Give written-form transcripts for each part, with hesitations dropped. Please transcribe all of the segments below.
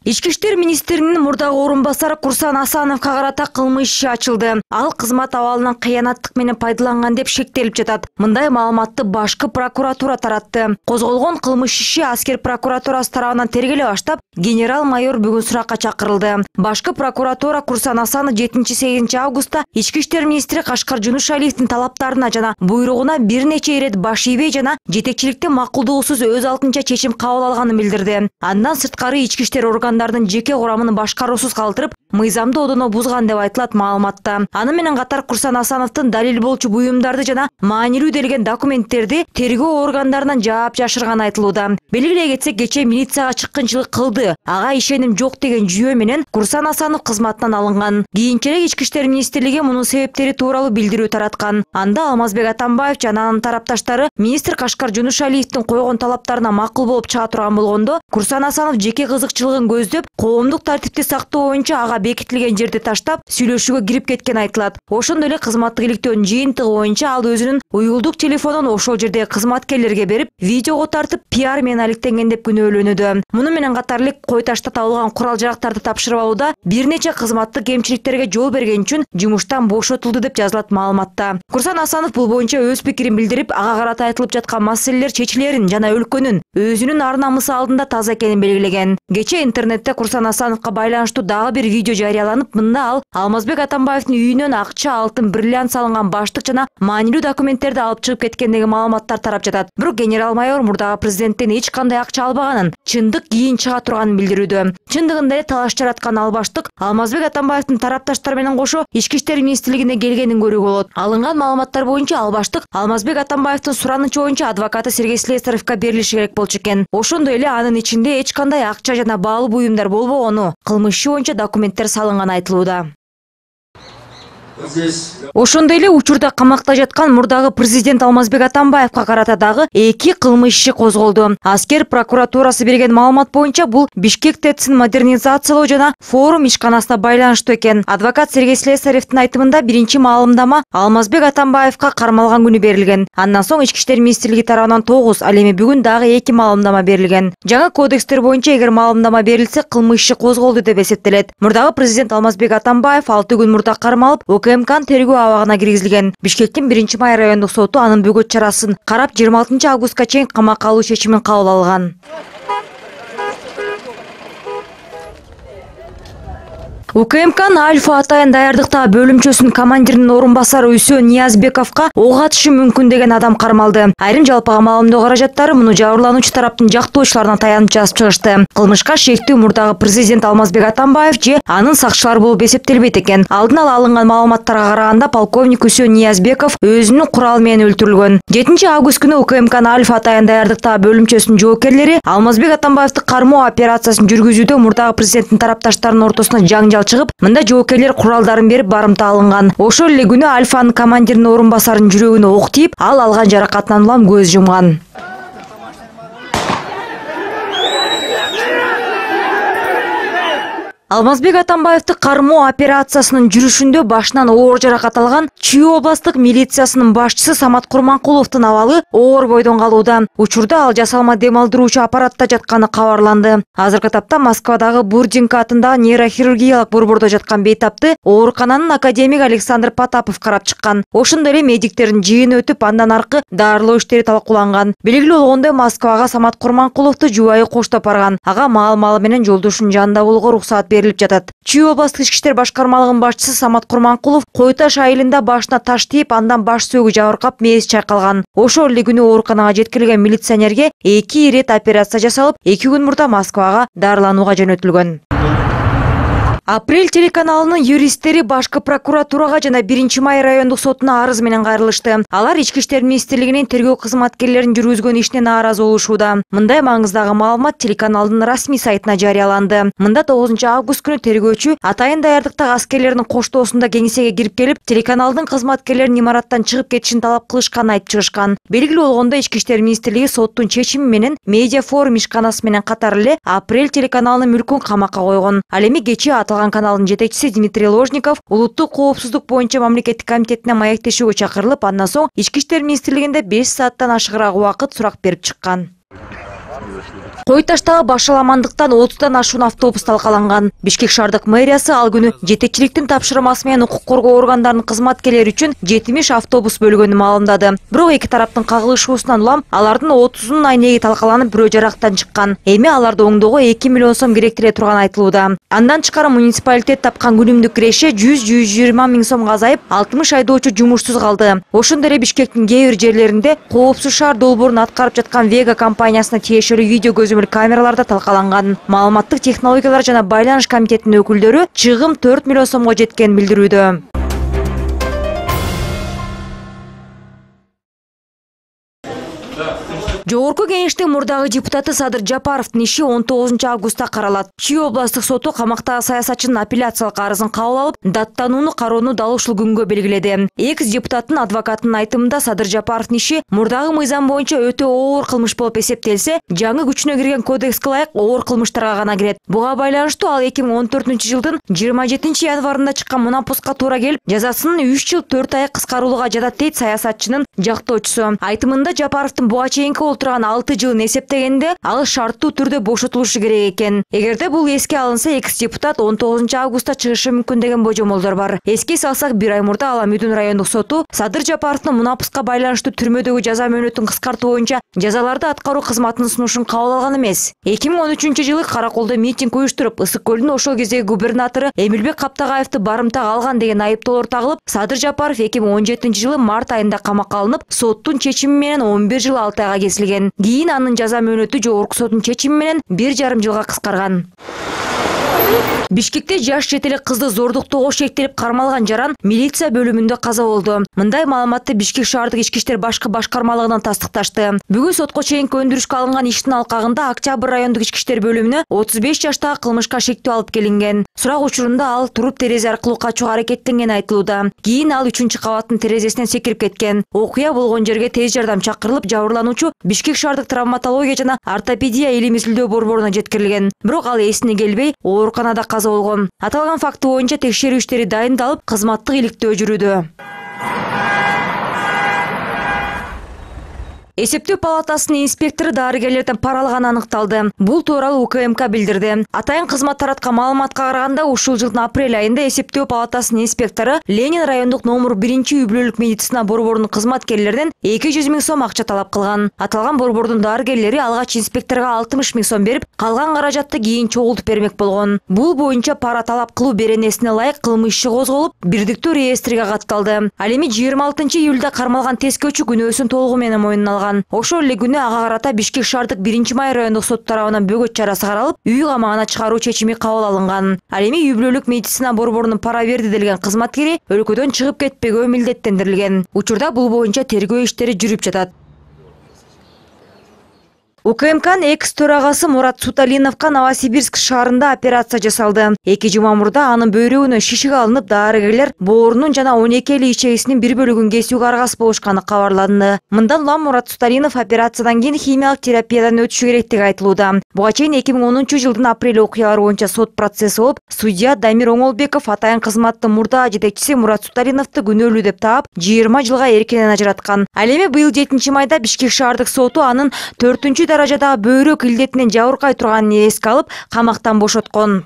Ички иштер министринин мурдагы орун басары Курсан Асановго карата кылмыш иши ачылды. Ал кызмат абалынан кыянаттык менен пайдаланган деп шектелип жатат. Мындай маалыматты башкы прокуратура таратты. Козголгон кылмыш иши аскер прокуратурасы тарабынан тергеле баштап, генерал-майор бүгүн суракка чакырылды. Башкы прокуратура Курсан Асанов 7-8 августта ички иштер министри Кашкар Жунушалиевдин талаптарына жана буйругуна бир нече ирет баш ийбей жана жетекчиликтин макулдуусуз өз алдынча чечим кабыл алганын билдирди. Андан сырткары ички иштер органдардын жеке курамын башкаруусуз калтырып, мыйзамды одоно бузган деп айтылат маалыматта. Аны менен катар Курсан Асановдун далил болчу буюмдарды жана маанилүү делген документтерди тергөө органдарынан жаап жашырган айтылууда. Белгилей кетсек, кечээ милицияга чыккынчылык кылды, ага ишеним жок деген жүйө менен Курсан Асанов кызматтан алынган. Кийинчерээк ички иштер министрлиги мунун себептери тууралуу билдирүү тараткан. Анда Алмазбек Атамбаев жана анын тарапташтары министр Кашкар Жунушалиевдин койгон талаптарына макул болуп чыга турган болгондо, Курсан Асанов жеке кызыкчылыгын көздөп, коомдук тартипти сактоо боюнча ага бекитилген жерди таштап, сүйлөшүүгө кирип кеткен айтылат. Ошондой эле кызматтык иликтөөнүн жыйынтыгы боюнча ал өзүнүн уюлдук телефонун ошол жердеги кызматкерлерге берип, видеого тартып, пиар менен алектенген деп күнөөлөнүүдө. Муну менен катар эле Кой Ташта табылган курал-жарактарды тапшырып алууда бир нече кызматтык кемчиликтерге жол берген үчүн жумуштан бошотулду деп жазылат маалыматта. Курсан Асанов бул боюнча өз пикирин билдирип, ага карата айтылып жаткан маселелер чечилерин жана өлкөнүн өзүнүн ар-намысы алдында таза экенин белгилеген. Кечээ интернетте Курсан Асановго байланыштуу дагы бир видео жарыяланып, мында ал Алмазбек Атамбаевдин үйүнөн акча, алтын, бриллиант салынган баштык жана маанилүү документтерди алып чыгып кеткендеги маалыматтар тарап жатат. Бирок генерал-майор мурдагы президенттен эч кандай акча албаганын, чындык кийин чыга турганын билдирүүдө. Чындыгында эле талаш жараткан ал баштык Алмазбек Атамбаевдин тарапташтары менен кошо ички иштер министрлигине келгенин көрүүгө болот. Алынган маалыматтар боюнча ал баштык Алмазбек Атамбаевдин суранычы боюнча адвокаты Сергей Слесаревге берилиши керек болчу экен. Ошондой эле анын ичинде эч кандай акча жана баалуу буюмдар болбогону, кылмыш иши боюнча документтер салынган айтылууда. Ошондой эле учурда камакта жаткан мурдагы президент Алмазбек Атамбаевга карата дагы 2 кылмыш иши козголду. Аскер прокуратурасы берген маалымат боюнча бул Бишкек ТЭЦин модернизациялоо жана форум ишканасына байланыштуу экен. Адвокат Сергей Слесаревдин айтымында биринчи маалымдама Алмазбек Атамбаевга кармалган күнү берилген. Андан соң ички иштер министрлиги тарабынан 9, ал эми бүгүн дагы 2 маалымдама берилген. Жаңы кодекстер боюнча эгер маалымдама берилсе, кылмыш иши козголду деп эсептелет. Мурдагы президент Алмазбек Атамбаев 6 күн мурда кармалып, УКМКнын тергөө абагына киргизилген. Бишкектин 1-май райондук соту анын бөгөт чарасын карап 26 августка чейин камакка алуу чечимин кабыл алган. УКМКнын Альфа Атайын даярдыктагы бөлүмчөсүнүн командиринин орун басары Үсөн Ниязбековго ок атышы мүмкүн деген адам кармалды. Айрым жалпыга маалымдоо каражаттары муну жабырлануучу тараптын жактоочуларына таянып жазып чыгышты. Кылмышка шектүү мурдагы президент Алмазбек Атамбаев же анын сакчылары болуп эсептелбейт экен. Алдын ала алынган маалыматтарга караганда полковник Үсөн Ниязбеков өзүнүн куралы менен өлтүрүлгөн. 7 август күнү УКМКнын Альфа Атайын даярдыктагы бөлүмчөсүнүн жоокерлери Алмазбек Атамбаевди кармоо операциясын жүргүзүүдө мурдагы президенттин тарапташтарынын ортосуна жаңжал чыгып, мында жоокерлер куралдарын берип барымта алынган. Ошол эле күнү Альфанын командиринин орун басарынын жүрөгүнө ок тийип, ал алган жаракатынан улам көз жумган. Алмазбек Атамбаевди кармоо операциясынын жүрүшүндө башынан оор жаракат алган Чүй областык милициясынын башчысы Самат Курманкуловдун абалы оор бойдон калууда. Учурда ал жасалма дем алдыруучу аппаратта жатканы кабарланды. Азыркы тапта Москвадагы Бурдинка атындагы нейрохирургиялык борбордо жаткан бейтапты оорукананын академик Александр Потапов карап чыккан. Ошондой эле медиктердин жыйыны өтүп, андан аркы дарылоо иштери талкууланган. Белгилүү болгондой, Москвага Самат Курманкуловду жубайы коштоп барган. Ага маал-малы менен жолдошунун жанында болууга уруксат берилип жатат. Чүй областык ички иштер башкармалыгынын башчысы Самат Курманкулов Кой Таш айылында башына таш тийип, андан баш сөөгү жабыркап, мээси чайкалган. Ошол эле күнү ооруканага жеткирилген милиционерге 2 ирет операция жасалып, 2 күн мурда Москвага дарыланууга жөнөтүлгөн. Апрель телеканалынын юристтери башкы прокуратурага жана 1-май райондук сотуна арыз менен кайрылышты. Алар ички иштер министрлигинин тергөө кызматкерлерин жүргүзгөн ишине нааразы болушууда. Мындай маңыздагы маалымат телеканалдын расмий сайтына жарыяланды. Мында 9 август күнү тергөөчү Атайын даярдыктагы аскерлердин коштоосунда кеңсеге кирип келип, телеканалдын кызматкерлерин имараттан чыгып кетишин талап кылышканын айтып чыгышкан. Белгилүү болгондой, ички иштер министрлиги соттун чечими менен медиа форум ишканасы менен катар эле Апрель телеканалынын мүлкүн камакка койгон. Ал эми кечээ каналдын жетекчиси Дмитрий Ложников улуттук коопсуздук боюнча мамлекеттик комитетине маектешүүгө чакырылып, андан соң ички иштер министрлигинде 5 сааттан ашыгыраак убакыт сурак берип чыккан. Кой таштагы башаламандыктан 30-дан ашуун автобус талкаланган. Бишкек шаардык мэриясы ал күнү жетекчиликтин тапшырмасы менен укук коргоо органдарынын кызматкерлери үчүн 70 автобус бөлгөнүн маалымдады. Бирок эки тараптын кагылышуусунан улам алардын 30-унун айнеги талкаланып, бирөө жарактан чыккан. Эми аларды оңдоого 2 миллион сом керектире турганы айтылууда. Андан тышкары муниципалитет тапкан күнүмдүк киреше 100-120 миң сомго азайып, 60 айдоочу жумушсуз калды. Ошондой эле Бишкектин кээ бир жерлеринде коопсуз шаар долбоорун аткарып жаткан Вега компаниясына тиешелүү видео көзөмөл камераларда талкаланган. Маалыматтык технологиялар жана байланыш комитетинин өкүлдөрү чыгым 4 миллион сомго жеткенин билдирүүдө. Жогорку кеңештин мурдагы депутаты Садыр Жапаровдун иши 19 августта каралат. Чүй областык соту камактагы саясатчынын апелляциялык арызын кабыл алып, даттанууну кароону дал ушул күнгө белгиледи. Экс депутаттын адвокатынын айтымында Садыр Жапаровдун иши мурдагы мыйзам боюнча өтө оор кылмыш болуп эсептелсе, жаңы күчүнө кирген кодекске ылайык оор кылмыштарга гана кирет. Буга байланыштуу ал 2014-жылдын 27 январында чыккан мунапуска туура келип, жазасынын 3 жыл 4 ай кыскарууга жатат дейт саясатчынын жактоочусу. Айтымында Жапаровдун буга чейинки олтурган 6 жылын эсептегенде ал шарттуу түрдө бошотулушу керек экен. Эгерде бул эске алынса, экс депутат 19 августта чыгышы мүмкүн деген божомолдор бар. Эске салсак, 1 ай мурда Ала Мүдүн райондук соту Садыр Жапаровдун мунапуска байланыштуу түрмөдөгү жаза мөөнөтүн кыскартуу боюнча жазаларды аткаруу кызматынын сунушун кабыл алган эмес. 2013-жылы Караколдо митинг уюштуруп, Ысык көлдүн ошол кездеги губернатору Эмилбек Каптагаевди барымтага алган деген айыптоолор тагылып, Садыр Жапаров 2017-жылы март айында камакка алынып, соттун чечими менен 11 жыл 6 айга кесилген. Кийин анын жаза мөөнөтү жогорку соттун чечими менен 1,5 жылга кыскарган. Бишкекте жаш жет эле кызды зордуктоого шектелип кармалган жаран милиция бөлүмүндө каза болду. Мындай маалыматты Бишкек шаардык ички иштер башкы башкармалыгынан тастыкташты. Бүгүн сотко чейинки өндүрүшкө алынган иштин алкагында Октябрь райондук ички иштер бөлүмүнө 35 жаштагы кылмышка шектөө алып келинген. Сурак учурунда ал туруп терезе аркылуу качууга аракеттенгени айтылууда. Кийин ал 3-кабаттын терезесинен секирип кеткен. Окуя болгон жерге тез жардам чакырылып, жабырлануучу Бишкек шаардык травматология жана ортопедия илим изилдөө борборуна жеткирилген. Бирок ал эсине келбей, ооруканада каза болгон. Аталган факты боюнча текшерүү иштери дайындалып, кызматтык иликтөө жүрүүдө. Эсептөө палатасынын инспектору дарыгерлерден пара алганы аныкталды. Бул тууралуу УКМК билдирди. Атайын кызмат тараткан маалыматка караганда, ушул жылдын апрель айында эсептөө палатасынын инспектору Ленин райондук номер 1-үй-бүлөлүк медицина борборунун кызматкерлеринен 200 миң сом акча талап кылган. Аталган борбордун дарыгерлери алгач инспекторго 60 миң сом берип, калган каражатты кийин чогултуп бермек болгон. Бул боюнча пара талап кылуу беренесине ылайык кылмыш иши козголуп, бирдиктүү реестриге катталды. Ал эми 26-июлда кармалган тескөөчү күнөөсүн толугу менен мойнуна алган. Ошол эле күнү ага карата Бишкек шаардык 1-май райондук сот тарабынан бөгөт чарасы каралып, үй камагына чыгаруу чечими кабыл алынган. Ал эми үй-бүлөлүк медицина борборунун пара берди делген кызматкери өлкөдөн чыгып кетпегөө милдеттендирилген. Учурда бул боюнча тергөө иштери жүрүп жатат. УКМКнын экс төрагасы Мурат Суталиновго Новосибирск шаарында операция жасалды. 2 жума мурда анын бөйрөгүнө шишик алынып, дарыгерлер боорунун жана 12 ичегисинин бир бөлүгүн кесүүгө аргасыз болушканы кабарланды. Мындан улам Мурат Суталинов операциядан кийин химиялык терапиядан өтүшү керектиги айтылууда. Буга чейин 2010-жылдын апрель окуялары боюнча сот процесси болуп, судья Дамир Оңолбеков атайын кызматтын мурдагы жетекчиси Мурат Суталиновду күнөөлүү деп таап, 20 жылга эркинен ажыраткан. Ал эми быйыл 7-майда Бишкек шаардык соту анын 4-даражадагы бөйрөк илдетинен жабыркай турганын эске алып, камактан бошоткон.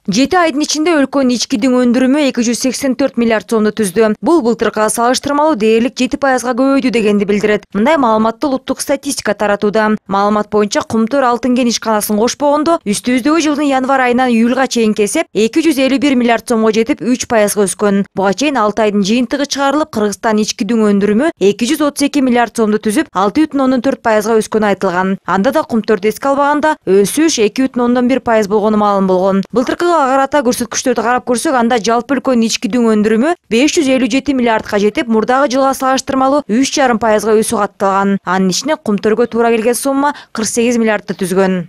Жети айдын ичинде өлкөнүн ичкидин өндүрүмү 284 миллиард сомду түздү. Бул былтыркыга салыштырмалуу дээрлик 7%га көбөйдү дегенди билдирет. Мындай маалыматты улуттук статистика таратууда. Маалымат боюнча Кумтөр алтын кен ишканасын кошпогондо үстүбүздөгү жылдын январь айынан июлга чейинки эсеп 251 миллиард сомго жетип 3%га өскөн. Буга чейин 6 айдын жыйынтыгы чыгарылып, Кыргызстан ичкидин өндүрүмү 232 миллиард сомду түзүп, 6,4%га өскөнү айтылган. Анда да Кумтөрдү эске албаганда өсүш 2,1% болгону маалым болгон. Былтыркы карата көрсөткүчтөрдү карап көрсөк, анда жалпы өлкөнүн ичкидин өндүрүмү 557 миллиардга жетип, мурдагы жылга салыштырмалуу 3,5%га өсүү катталган. Анын ичине Кумтөргө туура келген сумма 48 миллиардты түзгөн.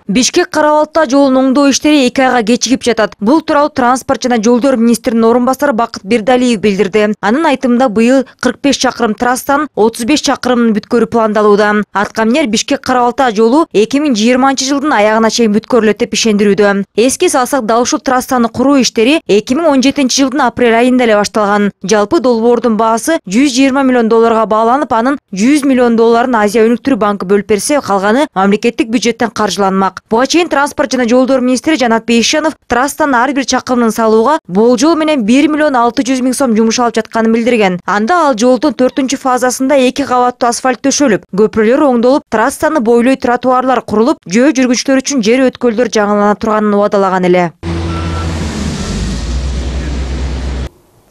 Бишкек Кара-Балта жолунун оңдоо иштери 2 айга кечигип жатат. Бул тууралуу транспорт жана жолдор министринин орун басары Бакыт Бердалиев билдирди. Анын айтымында быйыл 45 чакырым трассанын 35 чакырымын бүткөрүү пландалууда. Аткаминер Бишкек Кара-Балта жолу 2020 жылдын аягына чейин бүткөрүлөт деп ишендирүүдө. Эске салсак, дал ушул трассаны куруу иштери 2017 жылдын апрель айында эле башталган. Жалпы долбоордун баасы $120 миллион бааланып, анын $100 миллион Азия өнүктүрүү банкы бөлүп берсе, калганы мамлекеттик бюджеттен каржыланмак. Буга чейин транспорт жана жолдор министри Жанат Бейшенов трассанын ар бир чакырымын салууга болжол менен $1 миллион 600 миң сом жумшалып жатканын билдирген. Анда ал жолдун 4-фазасында 2 кабаттуу асфальт төшөлүп, көпүрөлөр оңдолуп, трассаны бойлой тротуарлар курулуп, жөө жүргүчүлөр үчүн жер өткөлдөр жаңылана турганын убадалаган эле.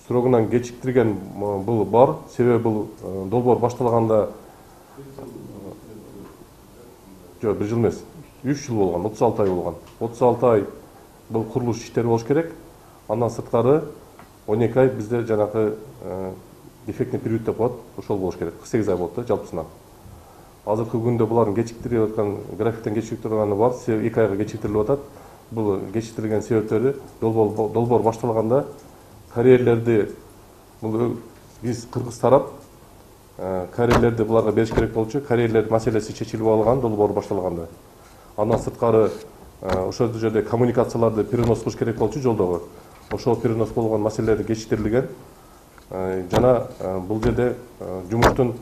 Срогунан кечиктирген бул бар. Себеби бул долбоор башталганда 1 жыл эмес, 3 жыл болгон, 36 ай болгон. 36 ай бул курулуш иштери болуш керек. Андан сырткары 12 ай бизде жанагы дефектный период деп коет, ошол болуш керек. 48 ай болот да жалпысынан. Азыркы күндө булардын кечиктирип аткан, графиктен кечиктирип турганы бар, 2 айга кечиктирилип атат. Бул кечиктирилген себептери долбоор башталганда карьерлерди биз кыргыз тарап карьерлерди буларга бериш керек болчу. Карьерлер маселеси чечилип алган долбоор башталганда. Андан сырткары ошол жерде коммуникацияларды перенос кылыш керек болчу жолдогу. Ошол перенос болгон маселелер кечиктирилген. Жана бул жерде жумуштун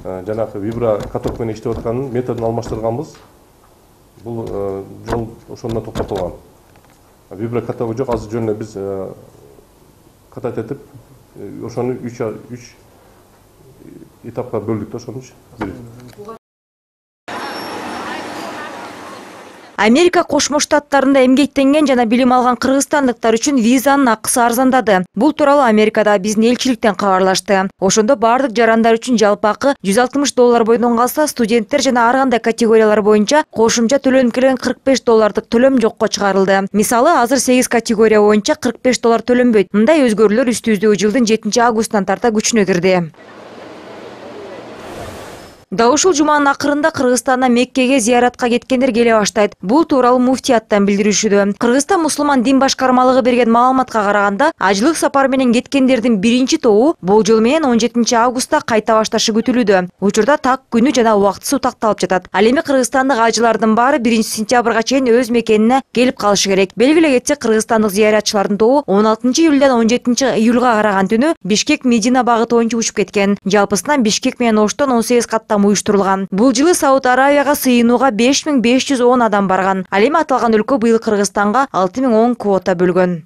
жанагы виброкаток менен иштеп атканын методун алмаштырганбыз. Бул жол ошондон токтотулган. Виброкатогу жок, азыр жөн эле биз катат этип, ошону 3 этапка бөлдүк да, ошонуч. Америка Кошмо Штаттарында эмгектенген жана билим алган кыргызстандыктар үчүн визанын акысы арзандады. Бул тууралуу Америкада биздин элчиликтен кабарлашты. Ошондо бардык жарандар үчүн жалпы акы $160 бойдон калса, студенттер жана ар кандай категориялар боюнча кошумча төлөнүп келген $45 төлөм жокко чыгарылды. Мисалы, азыр 8 категория боюнча $45 төлөнбөйт. Мындай өзгөрүүлөр үстүбүздөгү жылдын 7 августунан тарта күчүнө кирди. Да ушул жуманын акырында Кыргызстандан Меккеге зияратка кеткендер келе баштайт. Бул тууралуу муфтияттан билдиришүүдө. Кыргызстан мусулман дин башкармалыгы берген маалыматка караганда, ажылык сапары менен кеткендердин биринчи тобу болжол менен 17 августта кайта башташы күтүлүүдө. Учурда так күнү жана убактысы такталып жатат. Ал эми кыргызстандык ажылардын баары 1 сентябрга чейин өз мекенине келип калышы керек. Белгилей кетсек, кыргызстандык зыяратчылардын тобу 16 июлдан 17 июлга караган түнү Бишкек Медина багыты боюнча учуп кеткен. Жалпысынан Бишкек менен Оштон 18 каттам уюштурулган. Бул жылы Сауд Аравияга сыйынууга 5510 адам барган. Ал эми аталган өлкө быйыл Кыргызстанга 6010 квота бөлгөн.